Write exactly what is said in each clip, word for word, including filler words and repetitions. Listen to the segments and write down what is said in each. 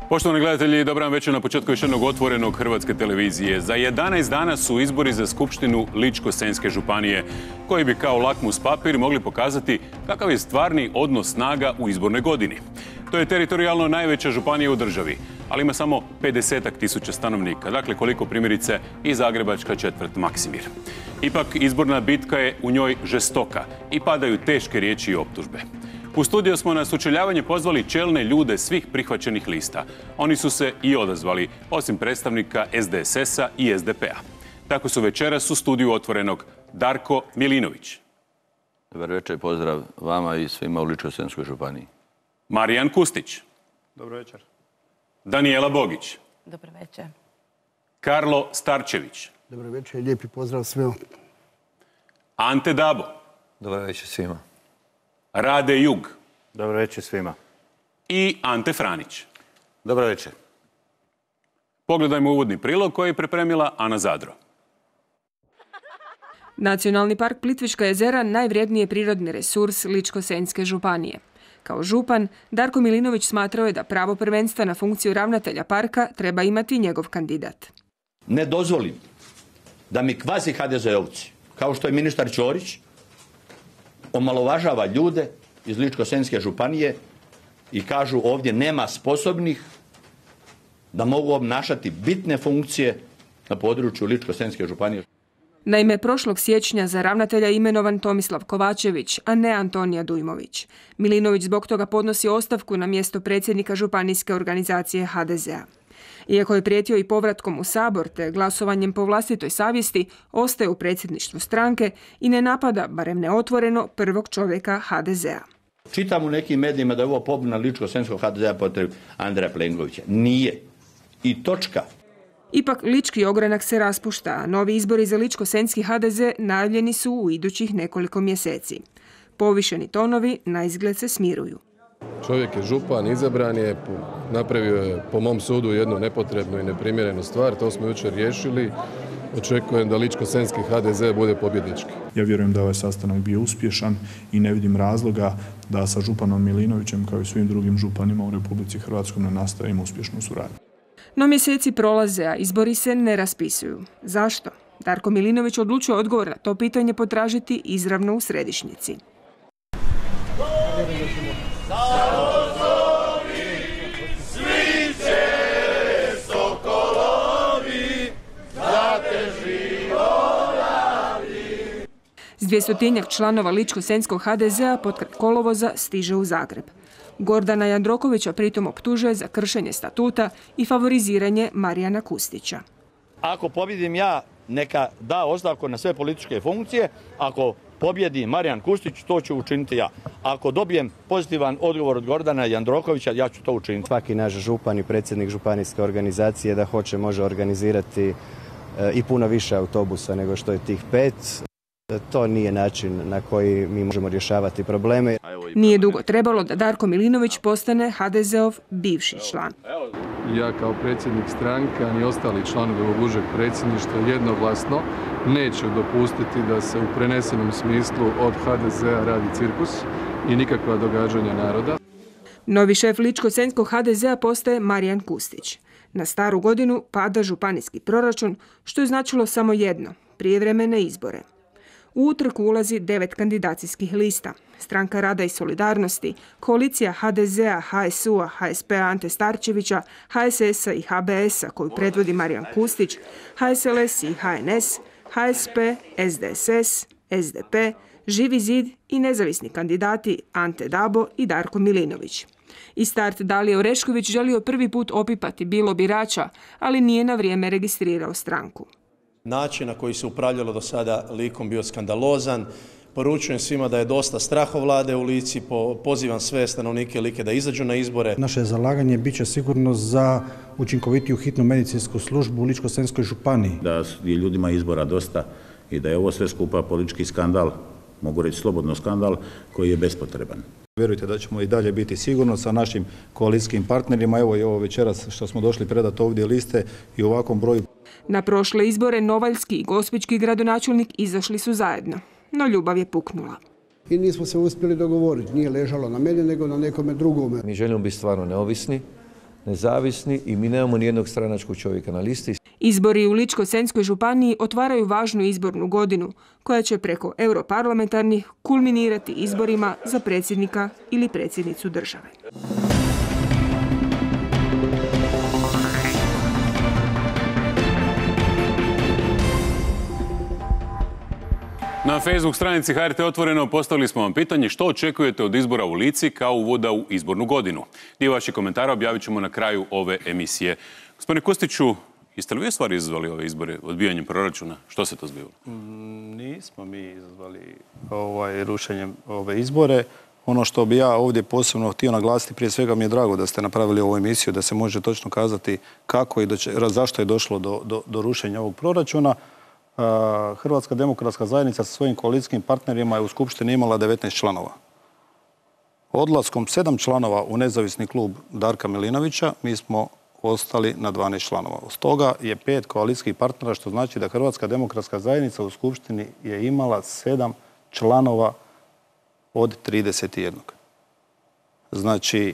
Poštovani gledatelji, dobar vam večer na početku još jednog otvorenog Hrvatske televizije. Za jedanaest dana su izbori za Skupštinu Ličko-senjske županije, koji bi kao lakmus papir mogli pokazati kakav je stvarni odnos snaga u izbornoj godini. To je teritorijalno najveća županija u državi, ali ima samo pedesetak tisuća stanovnika, dakle koliko primjerice i zagrebačka četvrt Maksimir. Ipak izborna bitka je u njoj žestoka i padaju teške riječi i optužbe. U studiju smo na sučeljavanje pozvali čelne ljude svih prihvaćenih lista. Oni su se i odazvali, osim predstavnika S D S S-a i S D P-a. Tako su večeras u studiju otvorenog Darko Milinović. Dobar večer, pozdrav vama i svima u Ličko-senjskoj županiji. Marijan Kustić. Dobro večer. Daniela Bogić. Dobro večer. Karlo Starčević. Dobro večer i lijepi pozdrav svima. Ante Dabo. Dobro večer svima. Rade Jug. Dobro večer svima. I Ante Franić. Dobro večer. Pogledajmo uvodni prilog koji je pripremila Ana Zadro. Nacionalni park Plitvička jezera najvrijedniji je prirodni resurs Ličko-senjske županije. Kao župan, Darko Milinović smatrao je da pravo prvenstva na funkciju ravnatelja parka treba imati njegov kandidat. Ne dozvolim da mi kvazi ha de ze ovci, kao što je ministar Ćorić, omalovažava ljude iz Ličko-senjske županije i kažu ovdje nema sposobnih da mogu obnašati bitne funkcije na području Ličko-senjske županije. Naime, prošlog siječnja za ravnatelja imenovan Tomislav Kovačević, a ne Antonija Dujmović. Milinović zbog toga podnosi ostavku na mjesto predsjednika županijske organizacije ha de ze a. Iako je prijetio i povratkom u Sabor te glasovanjem po vlastitoj savjesti, ostaje u predsjedništvu stranke i ne napada, barem neotvoreno, prvog čovjeka ha de ze a. Čitam u nekim medijima da je ovo pobuna Ličko-senjskog ha de ze a protiv Andreja Plenkovića. Nije. I točka. Ipak lički ogranak se raspušta, a novi izbori za Ličko-senjski ha de ze najavljeni su u idućih nekoliko mjeseci. Povišeni tonovi naizgled se smiruju. Čovjek je župan, izabran je, napravio je po mom sudu jednu nepotrebnu i neprimjerenu stvar, to smo jučer riješili. Očekujem da Ličko-senjski ha de ze bude pobjednički. Ja vjerujem da je ovaj sastanak bio uspješan i ne vidim razloga da sa županom Milinovićem kao i svim drugim županima u Republici Hrvatskoj ne nastavimo uspješnu suradnju. No mjeseci prolaze, a izbori se ne raspisuju. Zašto? Darko Milinović odlučuje odgovor na to pitanje potražiti izravno u središnjici. S dvjestotinjak članova Ličko-senjskog ha de ze a potkraj kolovoza stiže u Zagreb. Gordana Jandrokovića pritom optužuje za kršenje statuta i favoriziranje Marijana Kustića. Ako pobjedim ja, neka da ostavku na sve političke funkcije. Ako pobjedi Marijan Kustić, to ću učiniti ja. Ako dobijem pozitivan odgovor od Gordana Jandrokovića, ja ću to učiniti. Svaki naš župan i predsjednik županijske organizacije da hoće može organizirati i puno više autobusa nego što je tih pet. To nije način na koji mi možemo rješavati probleme. Nije dugo trebalo da Darko Milinović postane ha de ze ov bivši član. Ja kao predsjednik stranke, a i ostali članovi ovog užeg predsjedništva jednoglasno neću dopustiti da se u prenesenom smislu od ha de ze a radi cirkus i nikakva događanja naroda. Novi šef Ličko-senjskog ha de ze a postaje Marijan Kustić. Na staru godinu pada županijski proračun, što je značilo samo jedno, prijevremene izbore. U utrku ulazi devet kandidacijskih lista. Stranka rada i solidarnosti, koalicija ha de ze a, ha es u a, ha es pe a Ante Starčevića, ha es es a i ha be es a koju predvodi Marijan Kustić, ha es el es i ha en es, ha es pe, es de es es, es de pe, Živi zid i nezavisni kandidati Ante Dabo i Darko Milinović. I start Dalije Orešković želio prvi put opipati bilo birača, ali nije na vrijeme registrirao stranku. Način na koji se upravljalo do sada Likom bio skandalozan. Poručujem svima da je dosta strahovlade u Lici, pozivam sve stanovnike Like da izađu na izbore. Naše zalaganje bit će sigurno za učinkovitiju hitnu medicinsku službu u Ličko-senjskoj županiji. Da je ljudima izbora dosta i da je ovo sve skupa politički skandal mogu reći slobodno skandal koji je bespotreban. Vjerujte da ćemo i dalje biti sigurno sa našim koalicijskim partnerima. Evo i ovo večeras što smo došli predati ovdje liste i u ovakvom broju. Na prošle izbore novaljski i gospićki gradonačelnik izašli su zajedno, no ljubav je puknula. I nismo se uspjeli dogovoriti, nije ležalo na meni nego na nekome drugome. Mi želimo biti stvarno neovisni, nezavisni i mi nemamo nijednog stranačkog čovjeka na listi. Izbori u Ličko-senjskoj županiji otvaraju važnu izbornu godinu koja će preko europarlamentarnih kulminirati izborima za predsjednika ili predsjednicu države. Na Facebook stranici H R T Otvoreno postavili smo vam pitanje što očekujete od izbora u Lici kao uvoda u izbornu godinu. Dio vaših komentara objavit ćemo na kraju ove emisije. Gospodine Kustiću, jeste li vi u stvari izazvali ove izbore odbijanjem proračuna? Što se to zbivalo? Mm, nismo mi izazvali ovaj, rušenjem ove izbore. Ono što bi ja ovdje posebno htio naglasiti, prije svega mi je drago da ste napravili ovu emisiju, da se može točno kazati kako i do če, zašto je došlo do, do, do rušenja ovog proračuna. Hrvatska demokratska zajednica sa svojim koalicijskim partnerima je u Skupštini imala devetnaest članova. Odlaskom sedam članova u nezavisni klub Darka Milinovića mi smo ostali na dvanaest članova. Od toga je pet koalicijskih partnera, što znači da Hrvatska demokratska zajednica u Skupštini je imala sedam članova od trideset jedan. Znači,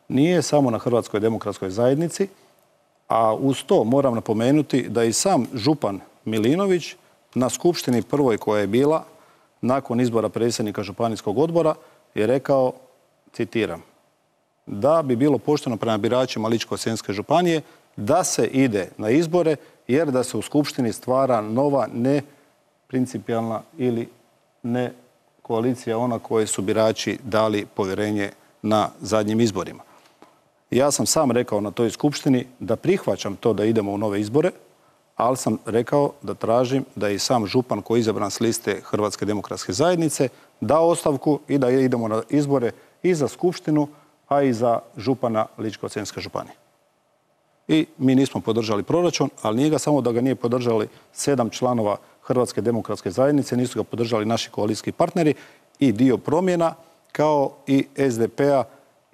nije samo na Hrvatskoj demokratskoj zajednici, a uz to moram napomenuti da i sam župan Milinović na skupštini prvoj koja je bila nakon izbora predsjednika županijskog odbora je rekao, citiram, da bi bilo pošteno prema biračima Ličko-senjske županije da se ide na izbore jer da se u skupštini stvara nova neprincipijalna ili ne koalicija ona koje su birači dali povjerenje na zadnjim izborima. Ja sam sam rekao na toj skupštini da prihvaćam to da idemo u nove izbore, ali sam rekao da tražim da i sam župan koji je izabran s liste Hrvatske demokratske zajednice da ostavku i da idemo na izbore i za skupštinu, a i za župana Ličko-senjske županije. I mi nismo podržali proračun, ali nije ga samo da ga nije podržali sedam članova Hrvatske demokratske zajednice, nisu ga podržali naši koalicijski partneri i dio promjena, kao i S D P-a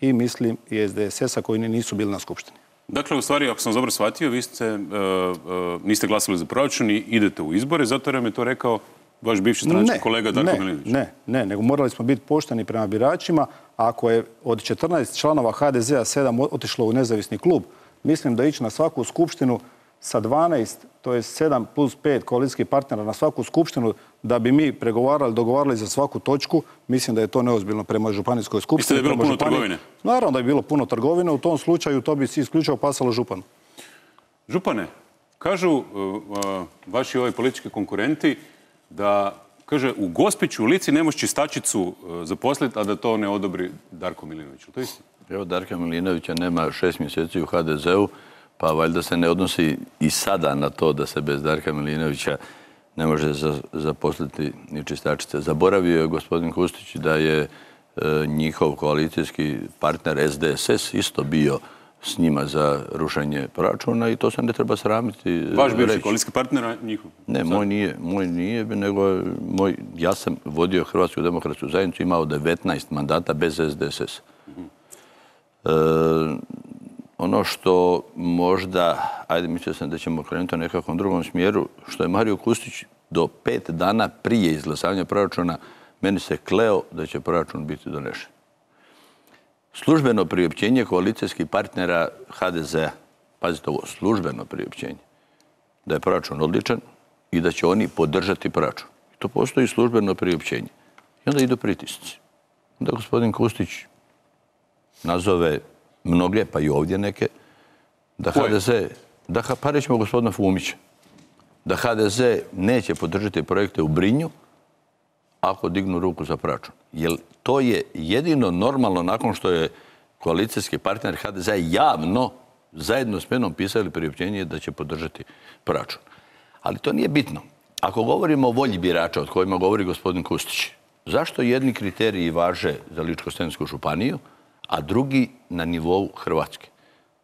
i mislim i S D S S-a koji nisu bili na skupštini. Dakle, u stvari, ako sam dobro shvatio, vi ste, uh, uh, niste glasali za proračun i idete u izbore, zato jer vam je to rekao vaš bivši stranački kolega Darko Milinović. Ne, ne, nego morali smo biti pošteni prema biračima. Ako je od četrnaest članova H D Z-a sedam otišlo u nezavisni klub, mislim da ići na svaku skupštinu sa dvanaest, to je sedam plus pet koalicijskih partnera na svaku skupštinu, da bi mi pregovarali, dogovarali za svaku točku, mislim da je to neozbiljno prema županijskoj skupštini. Mislite da je bilo puno trgovine? Naravno da je bilo puno trgovine, u tom slučaju to bi si isključivo pasalo županu. Župane, kažu uh, uh, vaši ovi politički konkurenti da, kaže, u Gospiću u Lici ne može čistačicu uh, zaposliti, a da to ne odobri Darko Milinović. To je isto? Evo, Darka Milinovića nema šest mjeseci u H D Z-u, pa valjda se ne odnosi i sada na to da se bez Darka Milinovića ne može zaposliti ni čistačice. Zaboravio je gospodin Kustić da je e, njihov koalicijski partner S D S S isto bio s njima za rušenje proračuna i to se ne treba sramiti. Vaš bivši koalicijski partner, a njihov? Ne, moj nije, moj nije, nego moj, ja sam vodio Hrvatsku demokratsku zajednicu, imao devetnaest mandata bez S D S S. Uh-huh. E, Ono što možda, ajde mislio sam da ćemo krenuti u nekakvom drugom smjeru, što je Mario Kustić do pet dana prije izglasavanja proračuna meni se kleo da će proračun biti donešen. Službeno priopćenje koalicijskih partnera H D Z-a, pazite ovo, službeno priopćenje, da je proračun odličan i da će oni podržati proračun. I to postoji službeno priopćenje. I onda idu pritisci. Onda gospodin Kustić nazove mnoge, pa i ovdje neke, da H D Z, da, pa rećemo gospodina Fumića, da H D Z neće podržati projekte u Brinju ako dignu ruku za proračun. Jer to je jedino normalno nakon što je koalicijski partner H D Z javno zajedno s menom pisali priopćenje da će podržati proračun. Ali to nije bitno. Ako govorimo o volji birača, od kojima govori gospodin Kustić, zašto jedni kriteriji važe za Ličko-senjsku županiju, a drugi na nivou Hrvatske?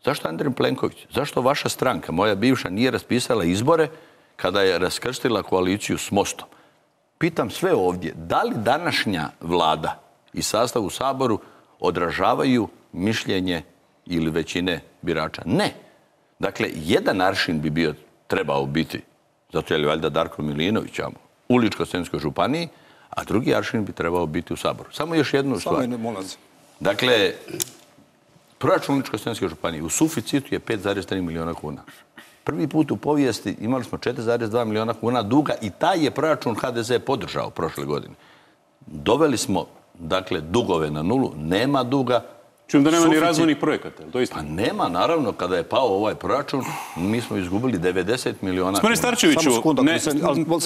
Zašto Andrej Plenković? Zašto vaša stranka, moja bivša, nije raspisala izbore kada je raskrstila koaliciju s Mostom? pitam sve ovdje, da li današnja vlada i sastav u Saboru odražavaju mišljenje ili većine birača? Ne. Dakle, jedan aršin bi bio, trebao biti, zato je li valjda Darko Milinović u Ličko-senjskoj županiji, a drugi aršin bi trebao biti u Saboru. Samo još jednu stvar. Dakle, proračun Ličko-senjske županije u suficitu je pet zarez tri miliona kuna. Prvi put u povijesti imali smo četiri zarez dva miliona kuna duga i taj je proračun ha de ze podržao prošle godine. Doveli smo, dakle, dugove na nulu, nema duga. Čujem da nema ni razvojnih projekata, to isto? Pa nema, naravno, kada je pao ovaj proračun, mi smo izgubili devedeset miliona kuna. Gospodine Starčeviću,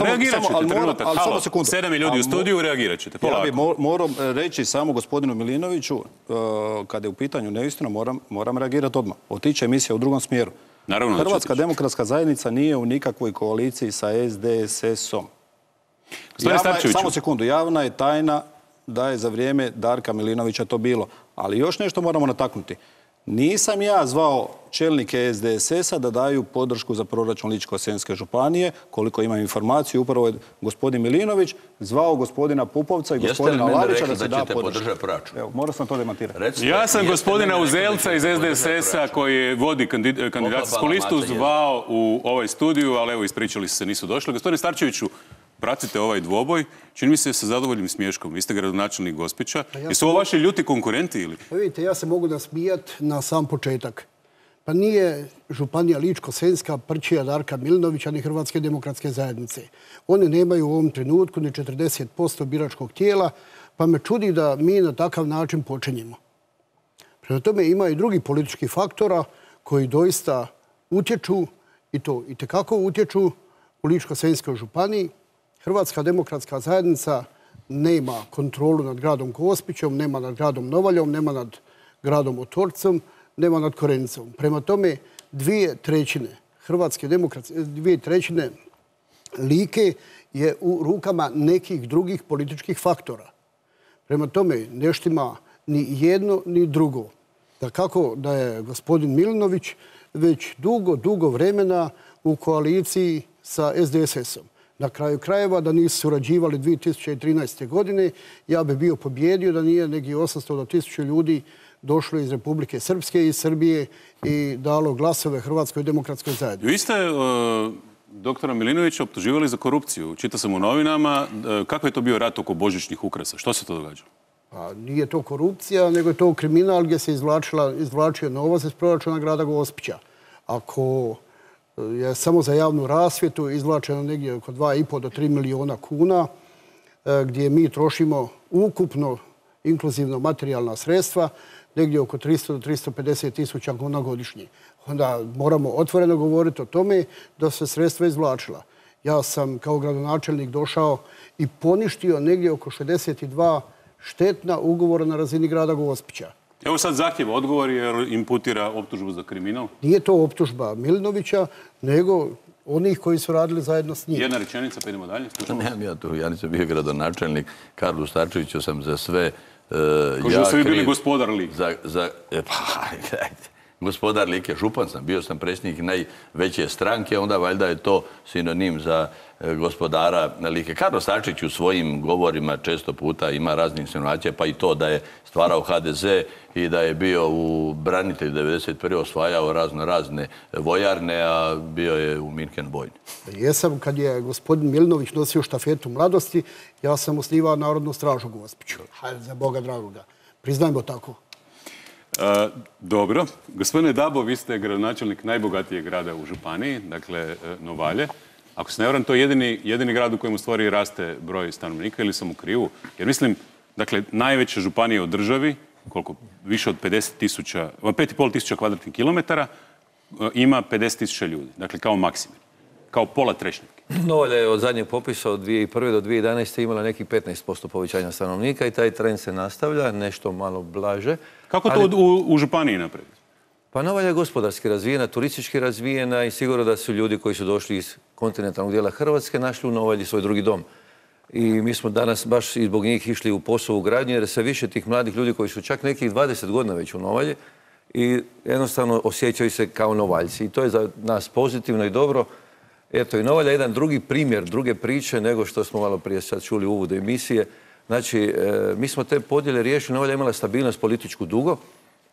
reagirat ćete trenutak. Halo, sedam je ljudi u studiju, reagirat ćete. Ja bih morao reći samo gospodinu Milinoviću, kada je u pitanju neistina, moram reagirati odmah. Otiče emisija u drugom smjeru. Hrvatska demokratska zajednica nije u nikakvoj koaliciji sa es de es esom. Samo sekundu, javna je tajna da je za vrijeme Darka Milinovića to bilo. Ali još nešto moramo nataknuti. Nisam ja zvao čelnike es de es esa da daju podršku za proračun Ličko-senjske županije. Koliko imam informaciju, upravo je gospodin Milinović zvao gospodina Pupovca i gospodina Lavića da se da podršku. Evo, morao sam to demantirati. Ja sam gospodina Uzelca iz es de es esa koji vodi kandidacijsku listu zvao u ovaj studiju, ali evo ispričali se, nisu došli. Gospodine Starčeviću, pratite ovaj dvoboj, čini mi se sa zadovoljnim smiješkom. Vi ste gradonačelnik Gospića. Jesu ovo vaši ljuti konkurenti ili? Pa vidite, ja se mogu nasmijati na sam početak. Pa nije županija Ličko-senjska prčija Darka Milinovića ni Hrvatske demokratske zajednice. One nemaju u ovom trenutku ni četrdeset posto biračkog tijela, pa me čudi da mi na takav način počinjemo. Prema tome ima i drugi politički faktora koji doista utječu, i to itekako utječu u Ličko-senjskoj županiji. Hrvatska demokratska zajednica nema kontrolu nad gradom Gospićom, nema nad gradom Novaljom, nema nad gradom Otorcom, nema nad Korenicom. Prema tome, dvije trećine Hrvatske demokratske, dvije trećine Like je u rukama nekih drugih političkih faktora. Prema tome, ne štima ni jedno ni drugo. Da kako da je gospodin Milinović već dugo, dugo vremena u koaliciji sa es de es esom. Na kraju krajeva, da nisu surađivali dvije tisuće trinaeste. godine, ja bi bio pobjedio da nije neki osamsto do tisuću ljudi došlo iz Republike Srpske i Srbije i dalo glasove Hrvatskoj demokratskoj zajednici. Vi ste doktora Milinovića optuživali za korupciju. Čitao sam u novinama. Kako je to bio rat oko božićnih ukrasa? Što se to događalo? Pa nije to korupcija, nego je to kriminal gdje se izvlačio novac iz proračuna grada Gospića. Ako je samo za javnu rasvjetu izvlačeno negdje oko dva i pol do tri miliona kuna, gdje mi trošimo ukupno inkluzivno materijalna sredstva, negdje oko tristo do tristo pedeset tisuća kuna godišnje. Onda moramo otvoreno govoriti o tome da se sredstva izvlačila. Ja sam kao gradonačelnik došao i poništio negdje oko šezdeset dva štetna ugovora na razini grada Gospića. Evo sad zahtjeva odgovor jer imputira optužbu za kriminal. Nije to optužba Milinovića, nego onih koji su radili zajedno s njim. Jedna rečenica, pa idemo dalje. Nemam ja tu, ja nisam bio gradonačelnik. Karlu Starčeviću sam za sve Ko što ste vi bili gospodar Like. Gospodar Like, župan sam, bio sam predsjednik najveće stranke, onda valjda je to sinonim za gospodara Like. Karlo Starčević u svojim govorima često puta ima razne insinuacije, pa i to da je stvarao ha de ze i da je bio u branitelju devedeset prve osvajao razno razne vojarne, a bio je u Minhen vojni. Jesam, kad je gospodin Milinović nosio štafetu mladosti, ja sam osnivao Narodnu stražu Gospiću. Hajde, za Boga dragoga. Priznajmo tako. Dobro. Gospodine Dabo, vi ste gradonačelnik najbogatijeg grada u županiji, dakle Novalje. Ako se ne varam, to je jedini, jedini grad u kojem u stvari raste broj stanovnika ili sam u krivu. Jer mislim, dakle, najveća županija u državi, koliko više od pedeset tisuća, pet i pol tisuća kvadratnih kilometara, ima pedeset tisuća ljudi. Dakle, kao maksimum. Kao pola Trešnjevke. Novalja je od zadnjeg popisa od dvije tisuće prve do dvije tisuće jedanaeste. imala nekih petnaest posto povećanja stanovnika i taj trend se nastavlja, nešto malo blaže. Kako to ali... u, u županiji napraviti? Pa Novalja je gospodarski razvijena, turistički razvijena i sigurno da su ljudi koji su došli iz kontinentalnog dijela Hrvatske našli u Novalji svoj drugi dom. I mi smo danas baš i zbog njih išli u posao u gradnju jer sve više tih mladih ljudi koji su čak nekih dvadeset godina već u Novalji i jednostavno osjećaju se kao Novaljci. I to je za nas pozitivno i dobro Eto, i Novalja je jedan drugi primjer, druge priče nego što smo malo prije sad čuli u uvodu emisije. Znači, mi smo te podjele riješili, Novalja je imala stabilnost političku dugo.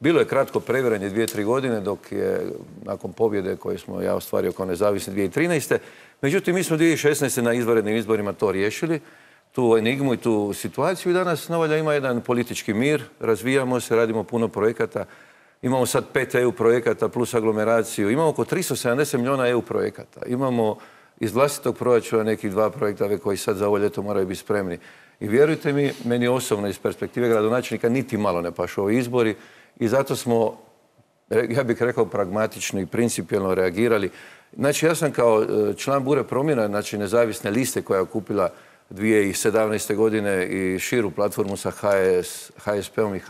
Bilo je kratko previranje dvije, tri godine, dok je nakon pobjede koje smo ja ostvario kao nezavisni dvije tisuće trinaeste. Međutim, mi smo dvije tisuće šesnaeste na izvanrednim izborima to riješili, tu enigmu i tu situaciju i danas Novalja ima jedan politički mir, razvijamo se, radimo puno projekata. Imamo sad pet E U projekata plus aglomeraciju. Imamo oko tristo sedamdeset milijuna E U projekata. Imamo iz vlastitog proračuna nekih dva projekta koji sad za ovo ljeto moraju biti spremni. I vjerujte mi, meni osobno iz perspektive gradonačelnika niti malo ne pašu ovi izbori i zato smo, ja bih rekao, pragmatično i principijelno reagirali. Znači, ja sam kao član Bure promjena, znači nezavisne liste koja je okupila dvije tisuće sedamnaeste. godine i širu platformu sa H S P-om i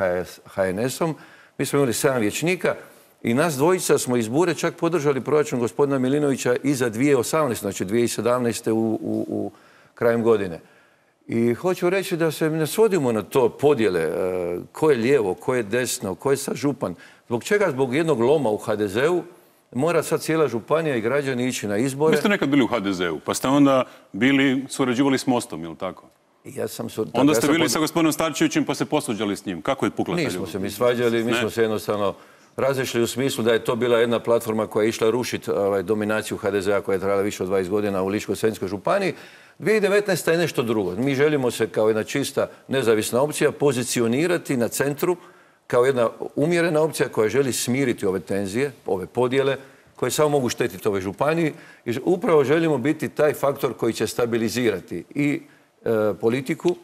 H N S-om. Mi smo imali sedam vijećnika i nas dvojica smo iz Bure čak podržali proračun gospodina Milinovića i za dvije tisuće osamnaeste. znači dvije tisuće sedamnaeste. u, u, u krajem godine. I hoću reći da se ne svodimo na to podjele, ko je lijevo, ko je desno, ko je sad župan. Zbog čega? Zbog jednog loma u H D Z-u mora sad cijela županija i građani ići na izbore. Vi ste nekad bili u H D Z-u, pa ste onda bili, surađivali s Mostom, ili tako? Ja sam sur... Onda ste ja sam bili pod... sa gospodinom Starčevićem pa se posvađali s njim. Kako je pukla ta ljubav? Nismo se mi svađali, mi ne? smo se jednostavno razišli u smislu da je to bila jedna platforma koja je išla rušiti ovaj, dominaciju H D Z-a koja je trajala više od dvadeset godina u Ličko-senjskoj županiji. dvije tisuće devetnaeste. je nešto drugo. Mi želimo se kao jedna čista nezavisna opcija pozicionirati na centru kao jedna umjerena opcija koja želi smiriti ove tenzije, ove podjele, koje samo mogu štetiti ove županiji. I upravo želimo biti taj faktor koji će stabilizirati i e, politiku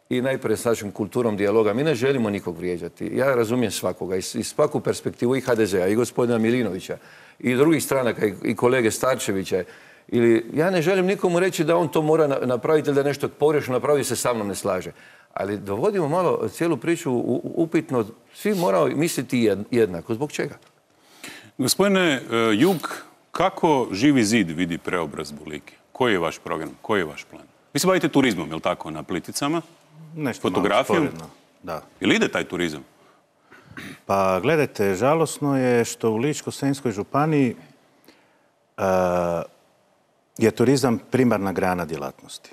i najprije s našom kulturom dijaloga. Mi ne želimo nikog vrijeđati. Ja razumijem svakoga i svaku perspektivu i H D Z-a i gospodina Milinovića i drugih stranaka i kolege Starčevića. Ili ja ne želim nikomu reći da on to mora napraviti ili da nešto pogrešno napravi se sa mnom ne slaže. Ali dovodimo malo cijelu priču upitno. Svi moraju misliti jednako. Zbog čega? Gospodine Jug, kako Živi zid vidi preobrazbu Like? Koji je vaš program? Koji je vaš plan? Vi se bavite turizmom, je li tako, na Plitvicama? Nešto fotografijom? Da. Ili ide taj turizam? Pa gledajte, žalosno je što u Ličko-senjskoj županiji uh, je turizam primarna grana djelatnosti.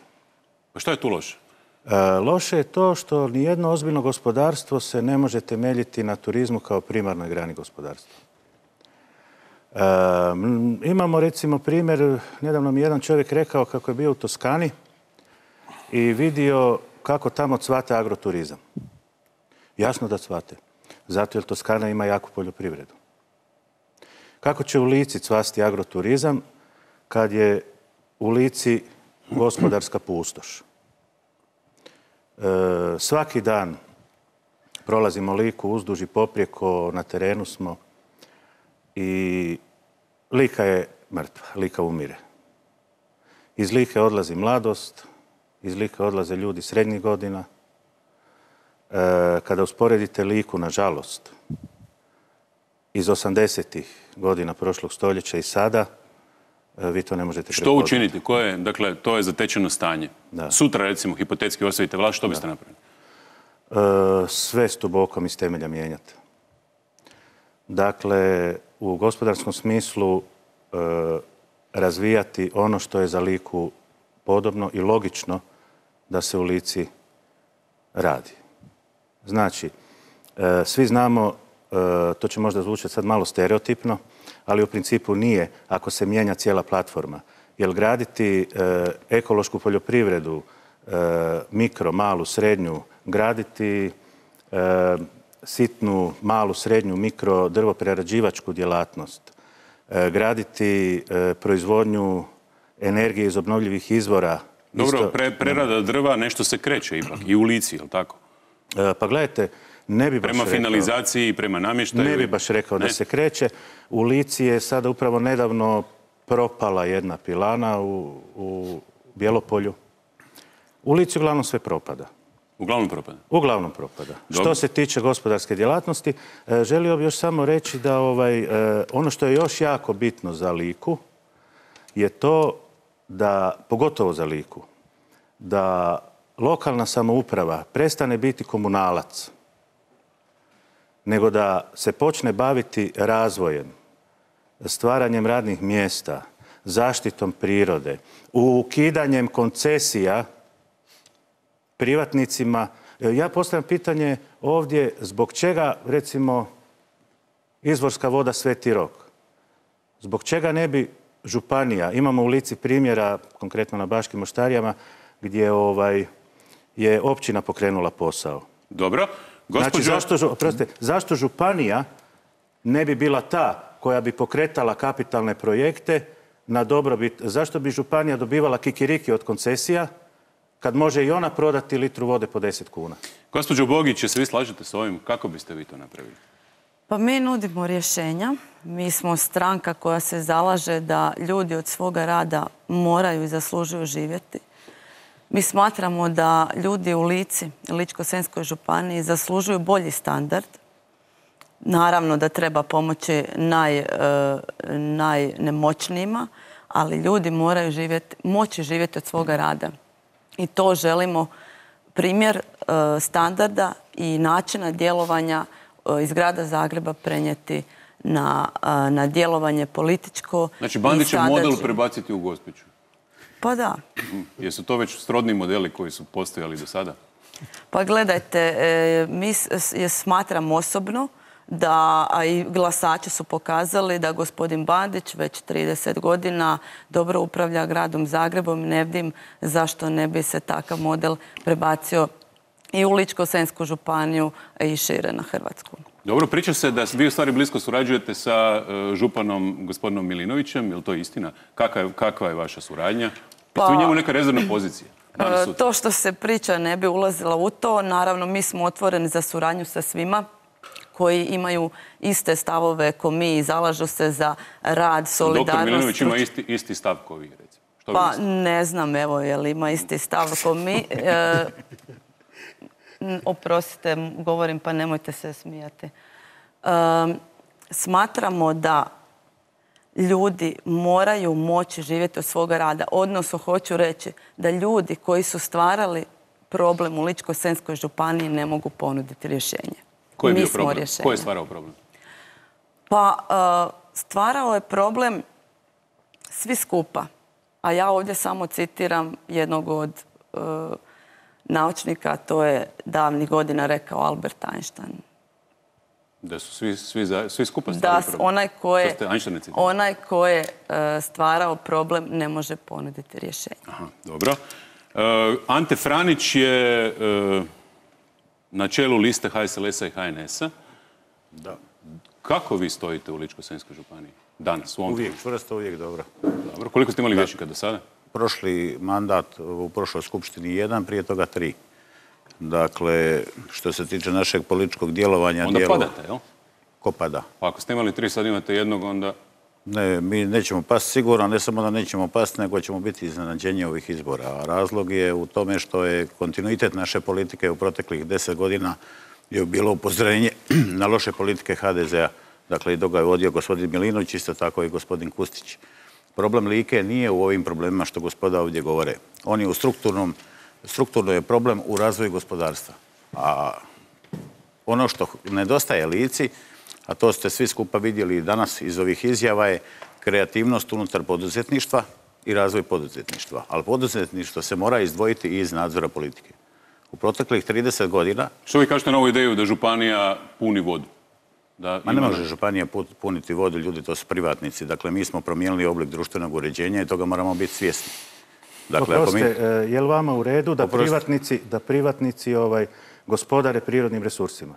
Pa što je tu loše? Uh, loše je to što nijedno ozbiljno gospodarstvo se ne može temeljiti na turizmu kao primarnoj grani gospodarstva. Uh, imamo recimo primjer, nedavno mi jedan čovjek rekao kako je bio u Toskani i vidio kako tamo cvate agroturizam. Jasno da cvate. Zato jer Toskana ima jaku poljoprivredu. Kako će u Lici cvasti agroturizam kad je u Lici gospodarska pustoš? E, svaki dan prolazimo Liku uzduž i poprijeko, na terenu smo i Lika je mrtva, Lika umire. Iz Like odlazi mladost, iz Like odlaze ljudi srednjih godina. E, kada usporedite Liku, nažalost, iz osamdesetih godina prošlog stoljeća i sada, e, vi to ne možete Što prepoznati. učiniti? Koje, dakle, to je zatečeno stanje. Da. Sutra, recimo, hipotetski osvojite vlast, što biste napravili? E, sve stubokom iz temelja mijenjati. Dakle, u gospodarskom smislu e, razvijati ono što je za Liku podobno i logično da se u Lici radi. Znači, e, svi znamo, e, to će možda zvučati sad malo stereotipno, ali u principu nije ako se mijenja cijela platforma. Jer graditi e, ekološku poljoprivredu, e, mikro, malu, srednju, graditi e, sitnu, malu, srednju, mikro, drvoprerađivačku djelatnost, e, graditi e, proizvodnju energije iz obnovljivih izvora. Dobro, isto, pre, prerada drva nešto se kreće ipak i u Lici, je li tako? E, pa gledajte, ne bi baš Prema rekao, finalizaciji i prema namještaju? Ne bi baš rekao ne? da se kreće. U Lici je sada upravo nedavno propala jedna pilana u, u Bjelopolju. U Lici uglavnom sve propada. Uglavnom propada? Uglavnom propada. Dobro. Što se tiče gospodarske djelatnosti, e, želio bih još samo reći da ovaj, e, ono što je još jako bitno za Liku je to da, pogotovo za Liku, da lokalna samouprava prestane biti komunalac, nego da se počne baviti razvojem, stvaranjem radnih mjesta, zaštitom prirode, ukidanjem koncesija privatnicima. Ja postavljam pitanje ovdje zbog čega, recimo, izvorska voda Sveti Rok. Zbog čega ne bi županija, imamo u Lici primjera, konkretno na Baškim Moštarijama, gdje ovaj, je općina pokrenula posao. Dobro. Znači, Gospođo... zašto, prostite, zašto županija ne bi bila ta koja bi pokretala kapitalne projekte na dobrobit? Zašto bi županija dobivala kikiriki od koncesija kad može i ona prodati litru vode po deset kuna? Gospođo Bogić, se vi slažete s ovim? Kako biste vi to napravili? Pa mi nudimo rješenja. Mi smo stranka koja se zalaže da ljudi od svoga rada moraju i zaslužuju živjeti. Mi smatramo da ljudi u Lici, Ličko-senjskoj županiji, zaslužuju bolji standard. Naravno da treba pomoći naj, najnemoćnijima, ali ljudi moraju živjeti, moći živjeti od svoga rada. I to želimo primjer standarda i načina djelovanja iz grada Zagreba prenijeti na, na djelovanje političko. Znači, Bandićev model prebaciti u Gospiću? Pa da. Jesu to već srodni modeli koji su postojali do sada? Pa gledajte, mi smatram osobno da, a i glasači su pokazali da gospodin Bandić već trideset godina dobro upravlja gradom Zagrebom. Ne vidim zašto ne bi se takav model prebacio i u Ličko-senjsku županiju i šire na Hrvatsku. Dobro, priča se da vi u stvari blisko surađujete sa županom gospodinom Milinovićem, je li to istina? Kakva, kakva je vaša suradnja? Pa, jeste u njemu neka rezervna pozicija? To što se priča ne bi ulazila u to. Naravno, mi smo otvoreni za suradnju sa svima koji imaju iste stavove ko mi i zalažu se za rad, solidarnost. Doktor Milinović ima isti, isti stav ko vi, recimo. Što pa ne znam, evo, je li ima isti stav ko mi. E, oprostite, govorim pa nemojte se smijati. E, smatramo da ljudi moraju moći živjeti od svoga rada. Odnosno, hoću reći da ljudi koji su stvarali problem u Ličko-senjskoj županiji ne mogu ponuditi rješenje. Koji je bio problem? Ko je stvarao problem? Pa stvarao je problem svi skupa. A ja ovdje samo citiram jednog od naučnika, to je davnih godina rekao Albert Einstein. Da su svi, svi, svi skupa stvarali problem? Da, onaj ko je, onaj ko je stvarao problem ne može ponuditi rješenje. Aha, dobro. Ante Franić je na čelu liste H S L S-a i H N S-a. Da. Kako vi stojite u Ličko-senjskoj županiji danas? U ovom uvijek, čvrsto, uvijek dobro. Dobro. Koliko ste imali vijećnika do sada? Prošli mandat u prošloj skupštini jedan, prije toga tri. Dakle, što se tiče našeg političkog djelovanja... Onda djelova... padate, jel? Ko pada? Pa ako ste imali tri, sad imate jednog, onda... Ne, mi nećemo pasti sigurno, ne samo da nećemo pasti, nego ćemo biti iznenađenje ovih izbora. A razlog je u tome što je kontinuitet naše politike u proteklih deset godina je bilo upozorenje na loše politike H D Z-a. Dakle, i dok ga je vodio gospodin Milinović, isto tako i gospodin Kustić. Problem Like nije u ovim problemima što gospoda ovdje govore. On je u strukturnom, strukturno je problem u razvoju gospodarstva. A ono što nedostaje Lici, a to ste svi skupa vidjeli danas iz ovih izjava, je kreativnost unutar poduzetništva i razvoj poduzetništva. Ali poduzetništvo se mora izdvojiti i iz nadzora politike. U proteklih trideset godina... Što vi kažete na ovu ideju da županija puni vodu? Da Ma ne može županija puniti vodu, ljudi, to su privatnici. Dakle, mi smo promijenili oblik društvenog uređenja i toga moramo biti svjesni. Dakle, Oprostite, mi... je li vama u redu da Oprosti. privatnici, da privatnici ovaj, gospodare prirodnim resursima?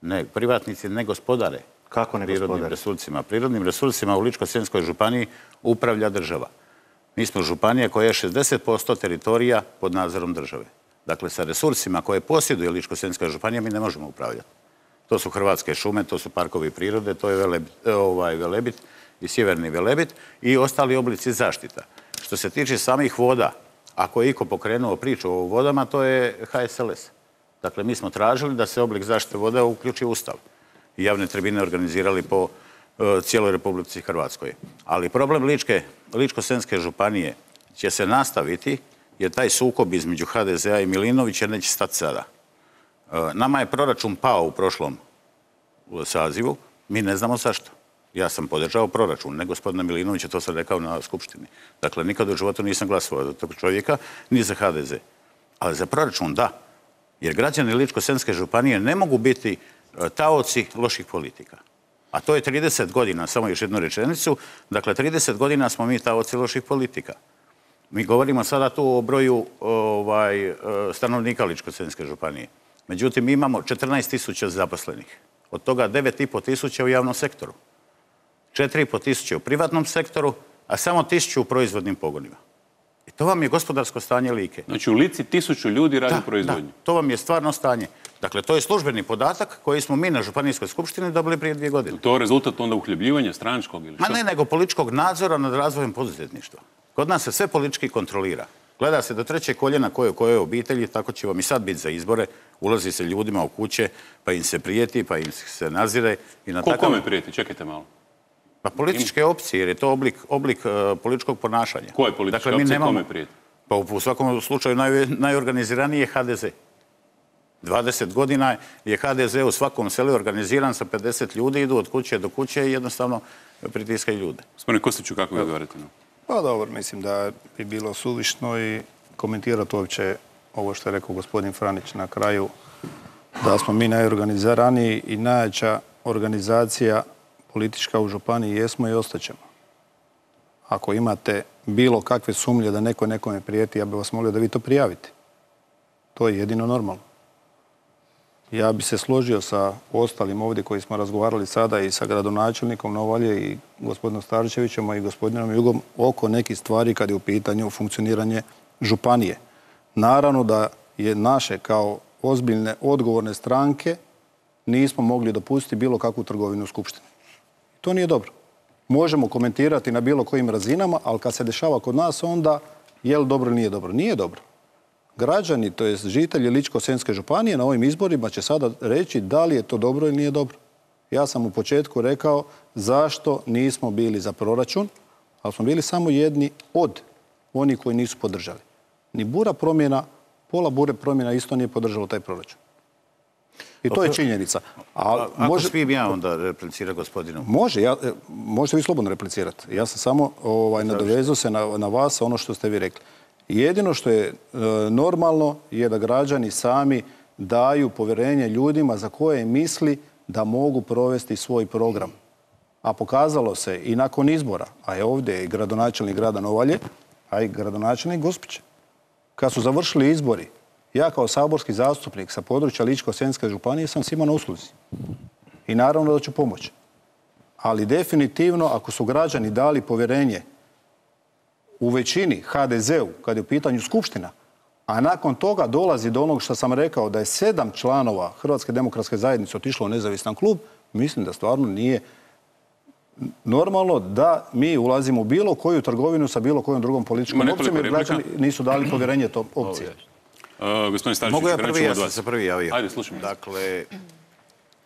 Ne, privatnici ne gospodare. Kako ne prirodnim gospodare? resursima. Prirodnim resursima u Ličko-senjskoj županiji upravlja država. Mi smo županija koja je šezdeset posto teritorija pod nadzorom države. Dakle, sa resursima koje posjeduje Ličko-senjska županija mi ne možemo upravljati. To su Hrvatske šume, to su parkovi prirode, to je Velebit, ovaj, Velebit i Sjeverni Velebit i ostali oblici zaštita. Što se tiče samih voda, ako je iko pokrenuo priču o vodama, to je H S L S. Dakle, mi smo tražili da se oblik zaštite voda uključi u Ustav. I javne tribine organizirali po uh, cijeloj Republici Hrvatskoj. Ali problem Ličke, Ličko-senjske županije će se nastaviti jer taj sukob između H D Z-a i Milinovića neće stati sada. Uh, nama je proračun pao u prošlom sazivu. Mi ne znamo zašto. Ja sam podržao proračun, ne gospodina Milinovića, to sam rekao na Skupštini. Dakle, nikad u životu nisam glasovao za tog čovjeka, ni za ha de ze. Ali za proračun da. Jer građani Ličko-senjske županije ne mogu biti taoci loših politika. A to je trideset godina, samo još jednu rečenicu. Dakle, trideset godina smo mi taoci loših politika. Mi govorimo sada tu o broju ovaj, stanovnika Ličko-senjske županije. Međutim, mi imamo četrnaest tisuća zaposlenih. Od toga devet i pol tisuća u javnom sektoru. četiri i pol tisuće u privatnom sektoru, a samo tisuću u proizvodnim pogonima. I to vam je gospodarsko stanje Like. Znači u Lici tisuću ljudi radi da, proizvodnju. Da, to vam je stvarno stanje. Dakle, to je službeni podatak koji smo mi na Županijskoj skupštini dobili prije dvije godine. To je rezultat onda uhljebljivanja stranačkog ili što? Ma ne, nego političkog nadzora nad razvojem poduzetništva. Kod nas se sve politički kontrolira. Gleda se do trećeg koljena koje u kojoj obitelji, tako će vam i sad biti za izbore. Ulazi se ljudima u kuće, pa im se prijeti, pa im se nazire. I na Ko takav... kome prijeti? Čekajte malo. Pa političke opcije, jer je to oblik, oblik uh, političkog ponašanja. Koje političke dakle, mi opcije nemamo... kome prijeti? Pa u, u svakom slučaju naj, najorganiziraniji je ha de ze. dvadeset godina je ha de ze u svakom selu organiziran sa pedeset ljudi, idu od kuće do kuće i jednostavno pritiskaju ljude. Gospodine Kostiću, kako vi odgovarate? Pa dobro, mislim da bi bilo suvišno i komentirati uopće ovo što je rekao gospodin Franić na kraju, da smo mi najorganiziraniji i najjača organizacija politička u županiji jesmo i ostaćemo. Ako imate bilo kakve sumnje da neko nekome prijeti, ja bih vas molio da vi to prijavite. To je jedino normalno. Ja bi se složio sa ostalim ovdje koji smo razgovarali sada i sa gradonačelnikom Novalje i gospodinom Starčevićem i gospodinom Jugom oko nekih stvari kad je u pitanju funkcioniranje županije. Naravno da je naše kao ozbiljne, odgovorne stranke nismo mogli dopustiti bilo kakvu trgovinu u Skupštini. To nije dobro. Možemo komentirati na bilo kojim razinama, ali kad se dešava kod nas, onda je li dobro ili nije dobro? Nije dobro. Građani, to je žitelji Ličko-senjske županije na ovim izborima će sada reći da li je to dobro ili nije dobro. Ja sam u početku rekao zašto nismo bili za proračun, ali smo bili samo jedni od onih koji nisu podržali. Ni bura promjena, pola bure promjena isto nije podržalo taj proračun. I to je činjenica. A, Ako može... smijem ja onda replicirati gospodinu? Može, ja, možete vi slobodno replicirati. Ja sam samo ovaj, nadovezao se na, na vas, ono što ste vi rekli. Jedino što je e, normalno je da građani sami daju povjerenje ljudima za koje misli da mogu provesti svoj program. A pokazalo se i nakon izbora, a je ovdje i gradonačelnik grada Novalje, a i gradonačelnik Gospića. Kad su završili izbori, ja kao saborski zastupnik sa područja Ličko-senjske županije sam svima na usluzi. I naravno da ću pomoći. Ali definitivno, ako su građani dali povjerenje u većini ha de zeu, kad je u pitanju Skupština, a nakon toga dolazi do onog što sam rekao da je sedam članova Hrvatske demokratske zajednice otišlo u nezavisan klub, mislim da stvarno nije normalno da mi ulazimo u bilo koju trgovinu sa bilo kojom drugom političkom opcijom, jer građani nisu dali povjerenje tom opcije. Uh, gospodin Starčević, mogu ja prvi, ja sam se prvi javio. Ajde, slušam. Dakle,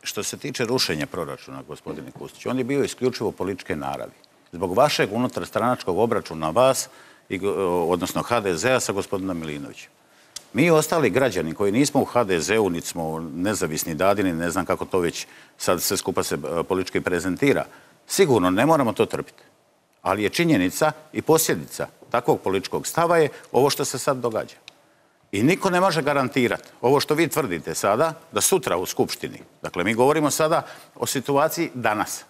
što se tiče rušenja proračuna, gospodine Kustić, on je bio isključivo političke naravi. Zbog vašeg unutarstranačkog obračuna vas, i, odnosno ha de zea sa gospodinom Milinovićem. Mi ostali građani koji nismo u ha de zeu, niti smo nezavisni dadini, ne znam kako to već sad sve skupa se politički prezentira, sigurno ne moramo to trpiti. Ali je činjenica i posljedica takvog političkog stava je ovo što se sad događa. I niko ne može garantirati ovo što vi tvrdite sada, da sutra u Skupštini, dakle mi govorimo sada o situaciji danas,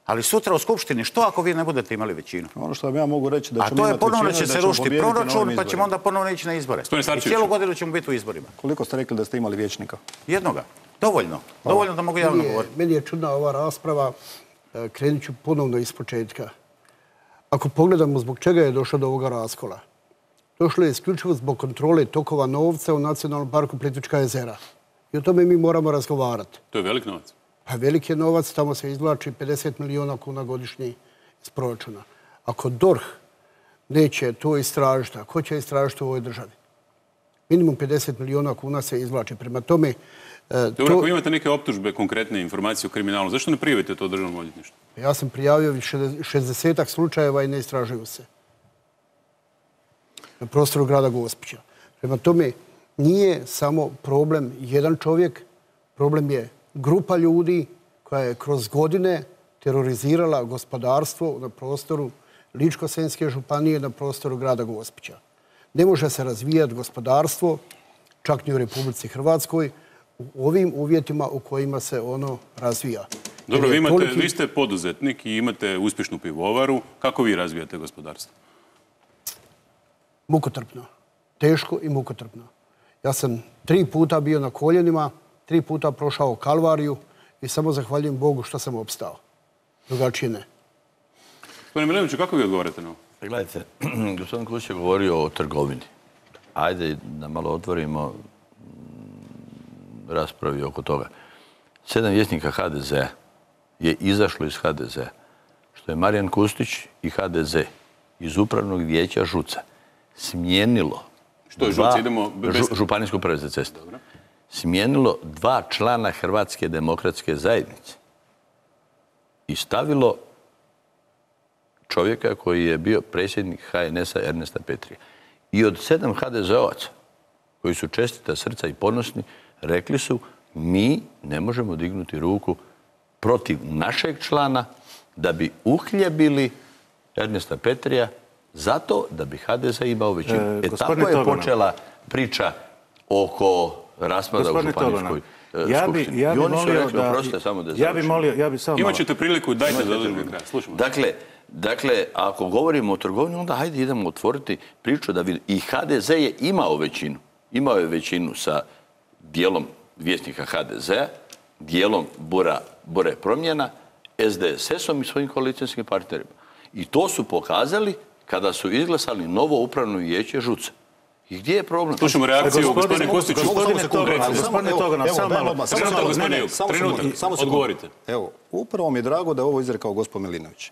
ali sutra u Skupštini, što ako vi ne budete imali većinu? Ono što vam ja mogu reći da ćemo imati većinu. A to je ponovno će se rušiti proračun, pa ćemo onda ponovno ići na izbore. I cijelu godinu ćemo biti u izborima. Koliko ste rekli da ste imali vijećnika? Jednoga. Dovoljno. Dovoljno da mogu javno govoriti. Meni je čudna ova rasprava. Krenut ću ponovno iz početka. Ako pogledamo zbog čega je došlo do ovoga raskola, došlo je isključivo zbog kontrole tokova novca u Nacionalnom parku Plitvička jezera. I o tome mi moramo razgovarati. To je velik novac. Pa velik je novac, tamo se izvlači pedeset milijuna kuna godišnji iz proračuna. Ako D O R H neće to istražiti, a ko će istražiti u ovoj državi? Minimum pedeset milijuna kuna se izvlači. Prema tome... Dobro, to... ako imate neke optužbe, konkretne informacije o kriminalu, zašto ne prijavite to državnom odvjetništvu? Ja sam prijavio šezdesetak slučajeva i ne istražuju se. Na prostoru grada Gospića. Prema tome, nije samo problem jedan čovjek, problem je grupa ljudi koja je kroz godine terorizirala gospodarstvo na prostoru Ličko-senjske županije, na prostoru grada Gospića. Ne može se razvijati gospodarstvo, čak ni u Republici Hrvatskoj, u ovim uvjetima u kojima se ono razvija. Dobro, vi, imate, vi ste poduzetnik i imate uspješnu pivovaru. Kako vi razvijate gospodarstvo? Mukotrpno. Teško i mukotrpno. Ja sam tri puta bio na koljenima, tri puta prošao kalvariju i samo zahvaljujem Bogu što sam opstao. Drugačije ne. Gospodine Milinoviću, kako vi odgovarate na ovo? Gledajte, gospodin Kustić je govorio o trgovini. Ajde da malo otvorimo raspravi oko toga. Sedam vjesnika ha de zea je izašlo iz ha de zea, što je Marijan Kustić i ha de ze iz upravnog vijeća ŽUC-a smijenilo Što je dva, ŽUC? Idemo bez... Županijsko uprave za ceste. Smijenilo dva člana Hrvatske demokratske zajednice i stavilo čovjeka koji je bio predsjednik ha en es-a Ernesta Petrija. I od sedam ha de zeovaca koji su čestita srca i ponosni, rekli su mi ne možemo dignuti ruku protiv našeg člana da bi uhljebili Ernesta Petrija zato da bi ha de ze imao većinu. E, e tako je Togona. Počela priča oko raspada u županijskoj ja skupštini. Ja bi, ja bi I oni molio su rekli, da... oprostite, samo da ja bi molio, ja bi samo Imat ćete priliku, dajte da održimo kraj. Slušamo. Dakle, dakle, ako govorimo o trgovini, onda hajde idemo otvoriti priču da vidimo. I ha de ze je imao većinu. Imao je većinu sa dijelom vjesnika ha de zea, dijelom Bura, Bure promjena, es de es es-om i svojim koalicijskim partnerima. I to su pokazali kada su izglasali novo upravno vijeće ŽUC-a. I gdje je problem? Slušamo reakciju gospodine Kostiću. Gospodine Togona, samo malo. Trenutak, odgovorite. Evo, upravo mi je drago da je ovo izrekao gospodin Milinović.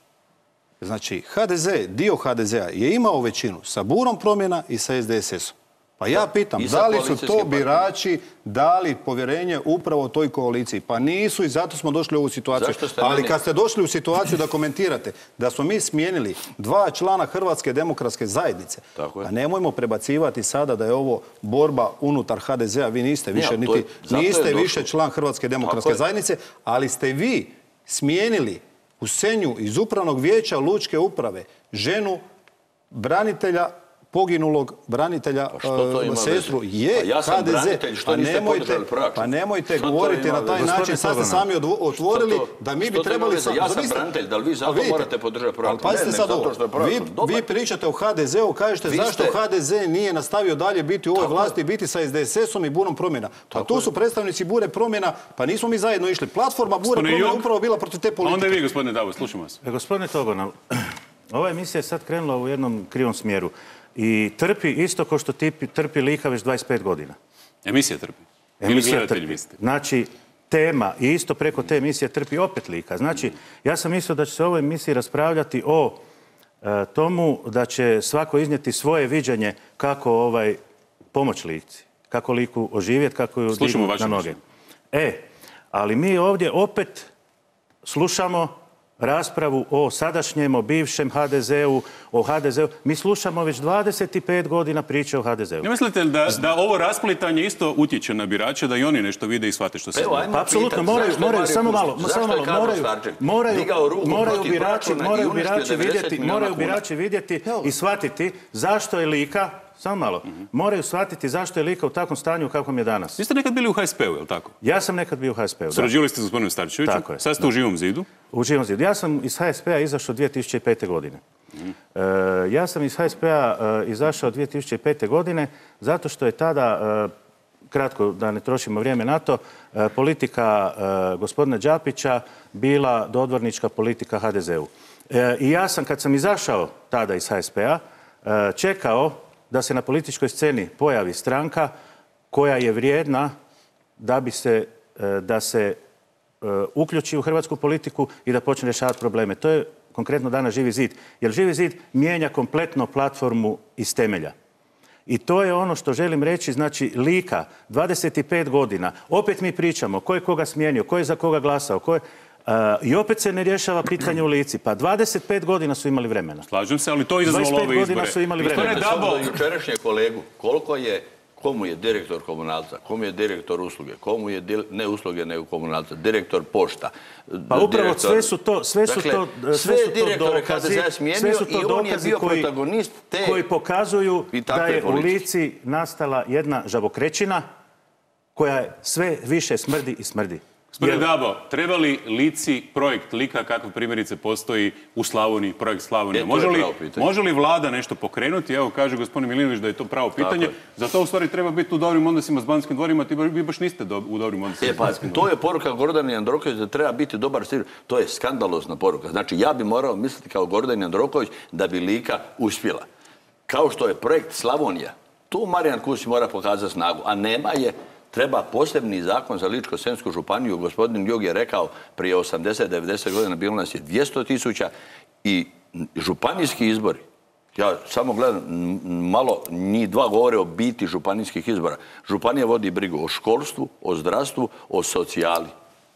Znači, ha de ze, dio ha de zea je imao većinu sa Burom promjena i sa es de es es-om. Pa ja pitam, da li su to birači dali povjerenje upravo toj koaliciji? Pa nisu i zato smo došli u ovu situaciju. Ali kad ste došli u situaciju da komentirate da smo mi smijenili dva člana Hrvatske demokratske zajednice, pa nemojmo prebacivati sada da je ovo borba unutar ha de zea. Vi niste više, niti, niste više član Hrvatske demokratske zajednice, ali ste vi smijenili u Senju iz upravnog vijeća Lučke uprave ženu branitelja poginulog branitelja pa sestru je pa ja ha de ze. Pa nemojte, pa nemojte govoriti na taj način. Sad ste sami otvorili da mi bi trebali... Ja sam branitelj, da li vi zato morate podržati proračun? Ali pazite sad ovo. Vi pričate o ha de zeu, kažete zašto ha de ze nije nastavio dalje biti u ovoj vlasti, biti sa es de es es-om i Burom promjena. Pa tu su predstavnici Bure promjena, pa nismo mi zajedno išli. Platforma Bure promjena upravo bila protiv te politike. Onda vi, gospodine Davo, slušamo vas. Gospodine Togona, ova emisija je sad krenula u jednom krivom smjeru. I trpi isto kao što trpi Lika već dvadeset pet godina. Emisija trpi? Emisija trpi. Znači, tema i isto preko te emisije trpi opet Lika. Znači, ja sam mislio da će se u ovoj emisiji raspravljati o e, tomu da će svako iznijeti svoje viđenje kako ovaj pomoć Lici, kako Liku oživjeti, kako ju dignuti na noge. E, ali mi ovdje opet slušamo raspravu o sadašnjem, o bivšem ha de zeu, o ha de zeu. Mi slušamo već dvadeset pet godina priče o ha de zeu. Ne mislite da, da ovo rasplitanje isto utječe na birače, da i oni nešto vide i shvate što se zna? Pa apsolutno, moraju, moraju, samo malo, samo malo, moraju, moraju, moraju birači, moraju birači vidjeti, moraju birači vidjeti i shvatiti zašto je Lika, samo malo, moraju shvatiti zašto je Lika u takvom stanju kakvom je danas. Vi ste nekad bili u ha es pe u, je li tako? Ja sam nekad bio u ha es pe u, da. Surađivali ste s gospodinom Starčevićem, sad ste u Živom zidu? U Živom zidu. Ja sam iz ha es pe-a izašao dvije tisuće pete. godine. Mm. E, ja sam iz ha es pe-a e, izašao dvije tisuće pete. godine zato što je tada, e, kratko da ne trošimo vrijeme na to, e, politika e, gospodina Đapića bila dodvornička politika ha de zeu. E, I ja sam, kad sam izašao tada iz ha es pe-a, e, čekao da se na političkoj sceni pojavi stranka koja je vrijedna da bi se, da se uključi u hrvatsku politiku i da počne rješavati probleme. To je konkretno danas Živi zid. Jer Živi zid mijenja kompletno platformu iz temelja. I to je ono što želim reći, znači Lika, dvadeset pet godina, opet mi pričamo ko je koga smijenio, ko je za koga glasao, ko je... Uh, I opet se ne rješava pitanje u Lici. Pa dvadeset pet godina su imali vremena. Slažem se, ali to izazvalo ove izbore. Su imali vremena. Samo do jučerašnje kolegu, koliko je komu je direktor komunalca, komu je direktor usluge, komu je, ne usluge, nego komunalca, direktor pošta. Pa upravo sve su to, sve su to, sve je direktore H D Z-a smijenio i on je bio protagonist te... koji pokazuju da je u Lici nastala jedna žabokrećina koja sve više smrdi i smrdi. Gospodine Dabo, treba li Lici projekt Lika kakav primjerice postoji u Slavoniji, projekt Slavonija? Može li, može li vlada nešto pokrenuti? Evo, kaže gospodin Milinović da je to pravo pitanje. Za to u stvari treba biti u dobrim odnosima s Banskim dvorima, ti vi baš niste do, u dobrim odnosima s Banskim dvorima. To je poruka Gordana Jandroković da treba biti dobar stil. To je skandalozna poruka. Znači, ja bi morao misliti kao Gordan Jandroković da bi Lika uspjela. Kao što je projekt Slavonija. Tu Marijan Kustić mora pokazati snagu, a nema je. Treba posebni zakon za Ličko-senjsku županiju. Gospodin Jog je rekao prije osamdeset do devedeset godina bilo nas je dvjesto tisuća i županijski izbori. Ja samo gledam, malo njih dva govore o biti županijskih izbora. Županija vodi brigu o školstvu, o zdravstvu, o socijali.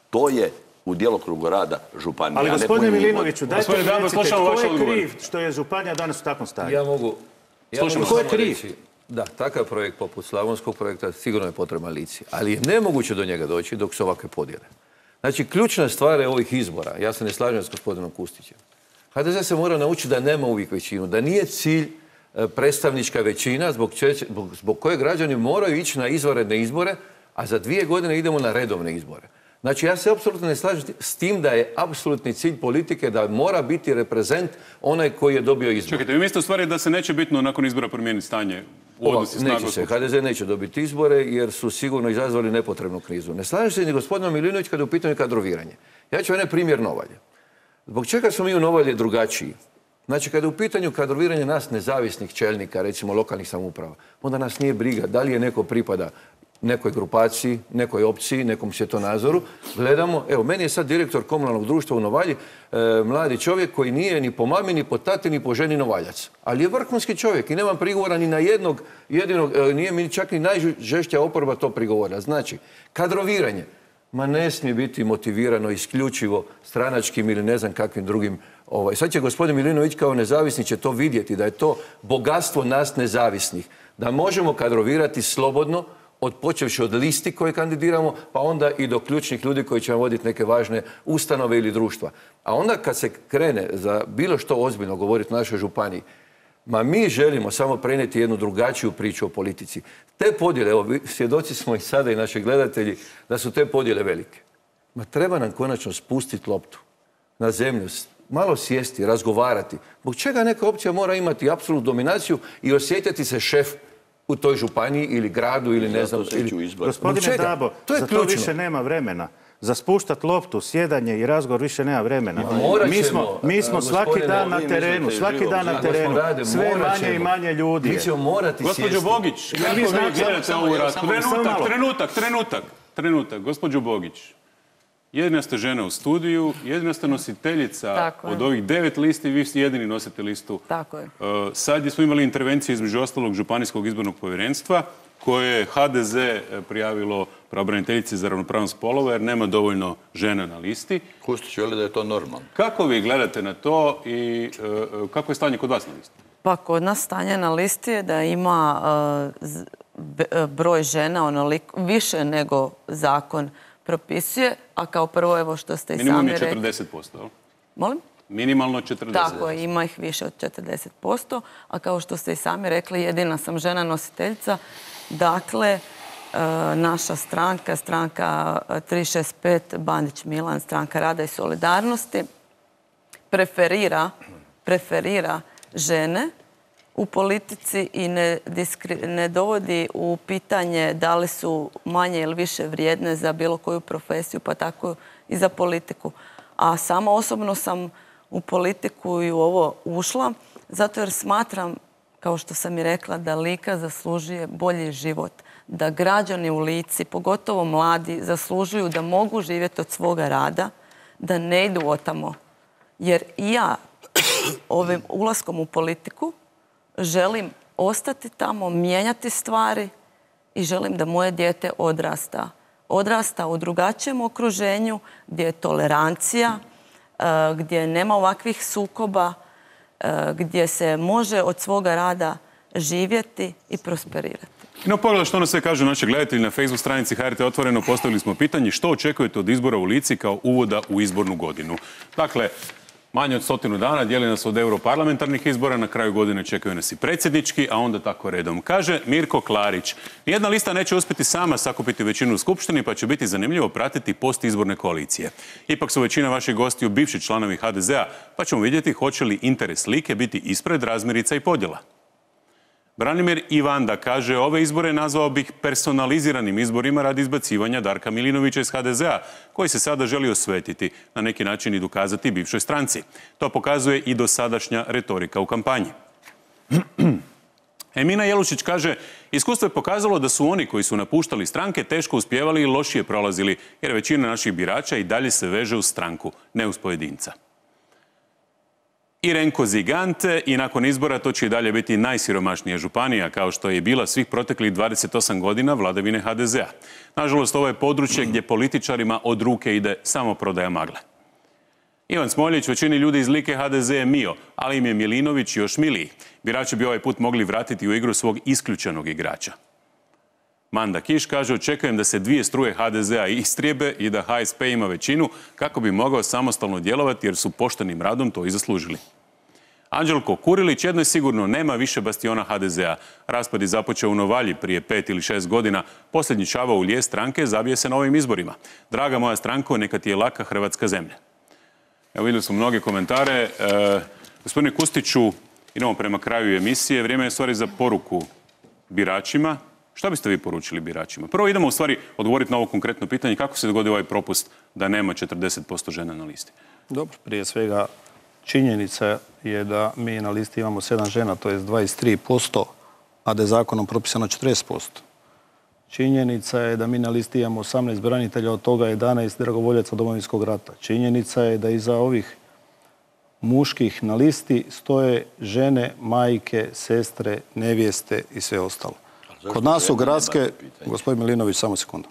To je u djelokrugu rada županije. Ali gospodine Milinoviću, dajte mi recite tko je kriv što je županija danas u takvom stanju? Ja mogu... Tko je kriv? Da, takav projekt poput slavonskog projekta sigurno je potreban Lici, ali je nemoguće do njega doći dok su ovakve podjele. Znači, ključna stvar je ovih izbora, ja se ne slažem s gospodinom Kustićem. H D Z se mora naučiti da nema uvijek većinu, da nije cilj predstavnička većina zbog, zbog, zbog koje građani moraju ići na izvanredne izbore, a za dvije godine idemo na redovne izbore. Znači, ja se apsolutno ne slažem s tim da je apsolutni cilj politike da mora biti reprezent onaj koji je dobio izbor. Čekajte, vi mislite u stvari da se neće bitno nakon izbora promijeniti stanje u odnosi snagu? Neće se. H D Z neće dobiti izbore jer su sigurno izazvali nepotrebnu krizu. Ne slažem se ni gospodina Milinović kada je u pitanju kadroviranje. Ja ću jedan primjer Novalje. Zbog čega smo mi u Novalje drugačiji? Znači, kada je u pitanju kadroviranje nas nezavisnih čelnika, recimo lokalnih samouprava, onda nas nije briga da li je neko pripada nekoj grupaciji, nekoj opciji, nekom svjetonazoru. Gledamo, evo, meni je sad direktor komunalnog društva u Novalji, e, mladi čovjek koji nije ni po mami, ni po tati, ni po ženi Novaljac. Ali je vrhunski čovjek i nemam prigovora ni na jednog, jedinog, e, nije mi čak ni najžešća oporba to prigovora. Znači, kadroviranje, ma ne smije biti motivirano isključivo stranačkim ili ne znam kakvim drugim. Ovaj. Sad će gospodin Milinović kao nezavisni će to vidjeti, da je to bogatstvo nas nezavisnih, da možemo kadrovirati slobodno, od počevši od listi koje kandidiramo, pa onda i do ključnih ljudi koji će nam voditi neke važne ustanove ili društva. A onda kad se krene za bilo što ozbiljno govoriti u našoj županiji, ma mi želimo samo prenijeti jednu drugačiju priču o politici. Te podjele, evo, svjedoci smo i sada i naši gledatelji, da su te podjele velike. Ma treba nam konačno spustiti loptu na zemlju, malo sjesti, razgovarati. Zbog čega neka opcija mora imati apsolutnu dominaciju i osjetiti se šef u toj županiji ili gradu ili ne znam... Gospodine Dabo, za to više nema vremena. Za spuštat loptu, sjedanje i razgovor više nema vremena. Mi smo, mi smo svaki dan na terenu, svaki dan na terenu, sve manje i manje ljudi. Mi ćemo morati sjesti. Gospođo Bogić, kako vi gledate ovu raspravu? Trenutak, trenutak, trenutak, trenutak. Gospođo Bogić, jedina ste žena u studiju, jedina ste nositeljica od ovih devet listi, vi ste jedini nosite listu. Tako je. Sad smo imali intervenciju između ostalog Županijskog izbornog povjerenstva, koje je H D Z prijavilo pravobraniteljici za ravnopravnost spolova jer nema dovoljno žena na listi. Kustić veli da je to normalno. Kako vi gledate na to i kako je stanje kod vas na listi? Pa kod nas stanje na listi je da ima broj žena onoliko više nego zakon propisuje, a kao prvo, evo što ste i sami rekli... Minimum je četrdeset posto. Molim? Minimalno četrdeset posto. Tako je, ima ih više od četrdeset posto, a kao što ste i sami rekli, jedina sam žena nositeljica. Dakle, naša stranka, stranka tri šest pet, Bandić Milan, stranka rada i solidarnosti, preferira, preferira žene u politici i ne, diskri, ne dovodi u pitanje da li su manje ili više vrijedne za bilo koju profesiju, pa tako i za politiku. A samo osobno sam u politiku i u ovo ušla, zato jer smatram, kao što sam i rekla, da Lika zaslužuje bolji život. Da građani u Lici, pogotovo mladi, zaslužuju da mogu živjeti od svoga rada, da ne idu otamo. Jer i ja ovim ulaskom u politiku želim ostati tamo, mijenjati stvari i želim da moje dijete odrasta. Odrasta u drugačijem okruženju gdje je tolerancija, gdje nema ovakvih sukoba, gdje se može od svoga rada živjeti i prosperirati. No, pogledaj što ono sve kažu naši gledatelji na Facebook stranici H R T Otvoreno. Postavili smo pitanje što očekujete od izbora u Lici kao uvoda u izbornu godinu. Dakle, manje od stotinu dana dijeli nas od europarlamentarnih izbora, na kraju godine čekaju nas i predsjednički, a onda tako redom. Kaže Mirko Klarić, nijedna lista neće uspjeti sama sakupiti većinu u Skupštini, pa će biti zanimljivo pratiti postizborne koalicije. Ipak su većina vaših gostiju bivši članovi H D Z-a, pa ćemo vidjeti hoće li interes Like biti ispred razmirica i podjela. Branimir Ivanda kaže, ove izbore nazvao bih personaliziranim izborima radi izbacivanja Darka Milinovića iz H D Z-a, koji se sada želi osvetiti, na neki način i dokazati bivšoj stranci. To pokazuje i dosadašnja retorika u kampanji. Emina Jelušić kaže, iskustvo je pokazalo da su oni koji su napuštali stranke teško uspjevali i lošije prolazili, jer većina naših birača i dalje se veže uz stranku, ne uz pojedinca. Irenko Zigante, i nakon izbora to će i dalje biti najsiromašnija županija, kao što je i bila svih proteklih dvadeset osam godina vladavine H D Z-a. Nažalost, ovo je područje gdje političarima od ruke ide samo prodaja magle. Ivan Smoljić, većini ljudi iz Like H D Z je mio, ali im je Milinović još miliji. Birači bi ovaj put mogli vratiti u igru svog isključenog igrača. Manda Kiš kaže, očekujem da se dvije struje H D Z-a istrijebe i da H S P ima većinu kako bi mogao samostalno djelovati jer su poštenim radom to i zaslužili. Anđelko Kurilić, jedno je sigurno, nema više bastiona H D Z-a. Raspad je započeo u Novalji prije pet ili šest godina. Posljednji čavao u lijes stranke zabije se na ovim izborima. Draga moja stranko, neka ti je laka hrvatska zemlja. Evo, vidjeli smo mnoge komentare. E, gospodine Kustiću, idemo prema kraju emisije. Vrijeme je stvari za poruku biračima. Šta biste vi poručili biračima? Prvo idemo u stvari odgovoriti na ovo konkretno pitanje. Kako se dogodio ovaj propust da nema četrdeset posto žena na listi? Dobro, prije svega činjenica je da mi na listi imamo sedam žena, to je dvadeset tri posto, a da je zakonom propisano četrdeset posto. Činjenica je da mi na listi imamo osamnaest branitelja, od toga jedanaest dragovoljaca Domovinskog rata. Činjenica je da iza ovih muških na listi stoje žene, majke, sestre, nevjeste i sve ostalo. Kod nas su gradske, gospodin Milinović, samo sekundu.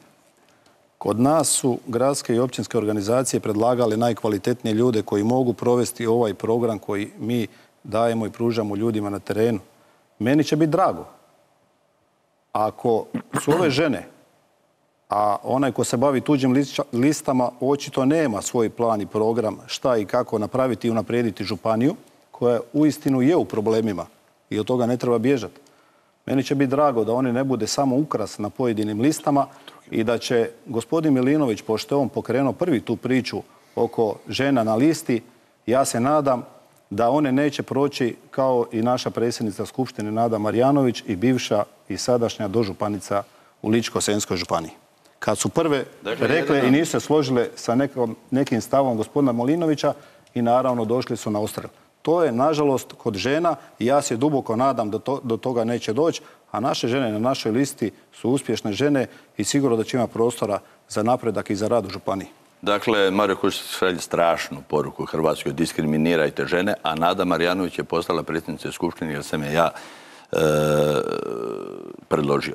Kod nas su gradske i općinske organizacije predlagali najkvalitetnije ljude koji mogu provesti ovaj program koji mi dajemo i pružamo ljudima na terenu. Meni će biti drago. Ako su ove žene, a onaj ko se bavi tuđim listama očito nema svoj plan i program šta i kako napraviti i unaprijediti županiju, koja uistinu je u problemima i od toga ne treba bježati. Meni će biti drago da oni ne bude samo ukras na pojedinim listama i da će gospodin Milinović, pošto je on pokrenuo prvi tu priču oko žena na listi, ja se nadam da one neće proći kao i naša predsjednica Skupštine Nada Marjanović i bivša i sadašnja dožupanica u Ličko-senjskoj županiji. Kad su prve rekle i nisu se složile sa nekom, nekim stavom gospodina Milinovića i naravno došli su na odstrel. To je, nažalost, kod žena i ja se duboko nadam da to, do toga neće doći, a naše žene na našoj listi su uspješne žene i sigurno da će ima prostora za napredak i za rad u županiji. Dakle, Mario Kustić šalje strašnu poruku Hrvatskoj, diskriminirajte žene, a Nada Marjanović je postala predsjednica Skupštine jer sam je ja e, predložio.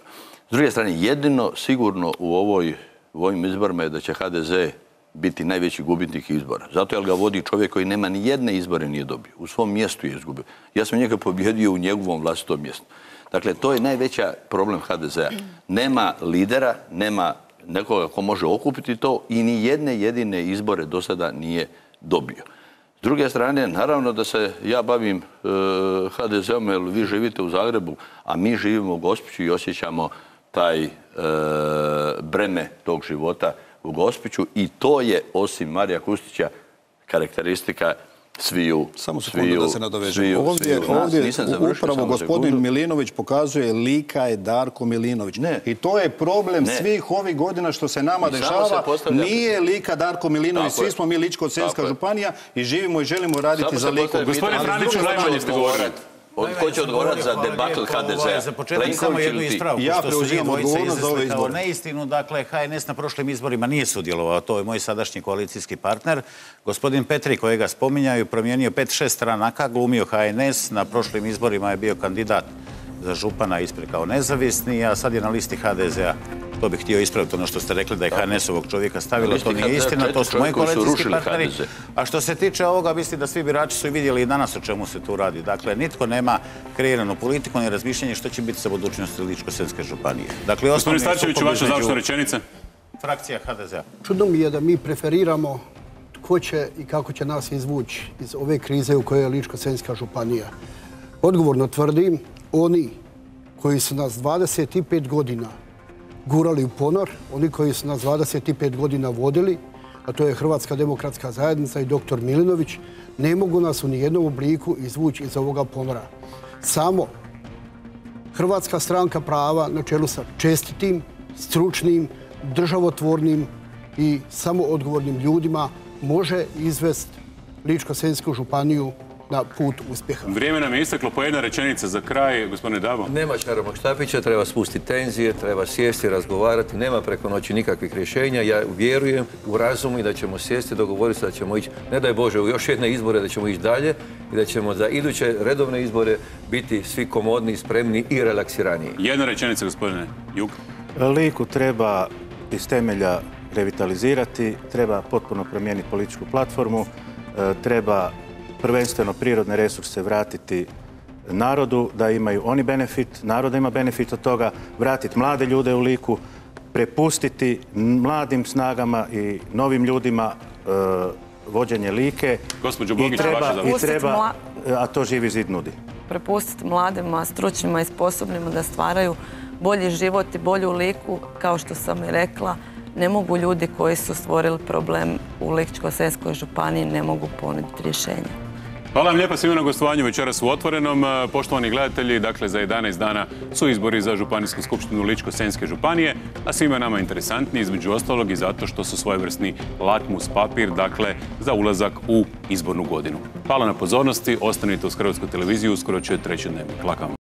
S druge strane, jedino sigurno u, ovoj, u ovim izborima je da će H D Z biti najveći gubitnik izbora. Zato jer ga vodi čovjek koji nema ni jedne izbore nije dobio. U svom mjestu je izgubio. Ja sam njega pobjedio u njegovom vlastitom mjestu. Dakle, to je najveća problem H D Z-a. Nema lidera, nema nekoga ko može okupiti to i ni jedne jedine izbore do sada nije dobio. S druge strane, naravno da se ja bavim e, H D Z-om jer vi živite u Zagrebu, a mi živimo u Gospiću i osjećamo taj e, breme tog života u Gospiću i to je, osim Marija Kustića, karakteristika sviju... Samo sekundu da se nadovežem. Ovdje, ovdje upravo gospodin Milinović pokazuje lika je Darko Milinović. Ne. I to je problem ne. svih ovih godina što se nama I dešava. Se postavlja... Nije lika Darko Milinović, svi smo mi Ličko-senjska županija i živimo i želimo raditi Samo za liku. Gospodine Franiću, najmanje ste govorili. Ko će odgovorati za debakl H D Z-a? Za početak samo jednu ispravku. Ja preuzimam odgovornost za ove izbore. Neistinu, dakle, H N S na prošlim izborima nije sudjelovao. To je moj sadašnji koalicijski partner. Gospodin Petri, kojega spominjaju, promijenio pet šest stranaka, glumio H N S. Na prošlim izborima je bio kandidat za župana ispred kao nezavisni, a sad je na listi H D Z-a. To bih htio ispraviti, ono što ste rekli da je H N S-ovog čovjeka stavilo, to nije istina, to su moji koalicijski partneri. A što se tiče ovoga, mislim da svi birači su i vidjeli i danas o čemu se tu radi. Dakle, nitko nema kreiranu politiku ni razmišljanje što će biti sa budućnosti Ličko-senjske županije. Dakle, gospodin Starčeviću, vaša završna rečenica? Frakcija H D Z-a. Čudno mi je da mi preferiramo tko će i kako će nas izvući iz ove krize u kojoj je Ličko-senjska županija. Odgovorno tvrdim, oni koji su nas dvadeset pet godina gurali u ponor, oni koji su nas dvadeset pet godina vodili, a to je Hrvatska demokratska zajednica i doktor Milinović, ne mogu nas u nijednom obliku izvući iz ovoga ponora. Samo Hrvatska stranka prava na čelu sa čestitim, stručnim, državotvornim i samoodgovornim ljudima može izvesti Ličko-senjsku županiju na put uspjeha. Vrijeme nam je isteklo. Po jedna rečenica za kraj, gospodine Dabo. Nema čarobnog štapića, treba spustiti tenzije, treba sjesti, razgovarati, nema preko noći nikakvih rješenja. Ja vjerujem u razumu i da ćemo sjesti, dogovoriti se da ćemo ići, ne daj Bože, u još jedne izbore, da ćemo ići dalje i da ćemo za iduće redovne izbore biti svi komodni, spremni i relaksiraniji. Jedna rečenica, gospodine Jug. Liku treba iz temelja revitalizirati, treba potpuno promijeniti političku platformu, treba prvenstveno prirodne resurse vratiti narodu, da imaju oni benefit, narod ima benefit od toga, vratiti mlade ljude u Liku, prepustiti mladim snagama i novim ljudima vođenje Like. Gospođo Bogić, vaša i treba, a to Živi zid nudi. Prepustiti mladima, stručnima i sposobnima da stvaraju bolji život i bolju Liku, kao što sam i rekla, ne mogu ljudi koji su stvorili problem u Ličko-senjskoj županiji, ne mogu ponuditi rješenja. Hvala vam lijepa svima na gostovanju večeras u Otvorenom. Poštovani gledatelji, dakle za jedanaest dana su izbori za Županijsku skupštinu Ličko-senjske županije, a svima nama interesantni između ostalog i zato što su svojevrsni lakmus papir, dakle za ulazak u izbornu godinu. Hvala na pozornosti, ostanite uz Hrvatsku televiziju, uskoro će treći dnevnik. Laka vam.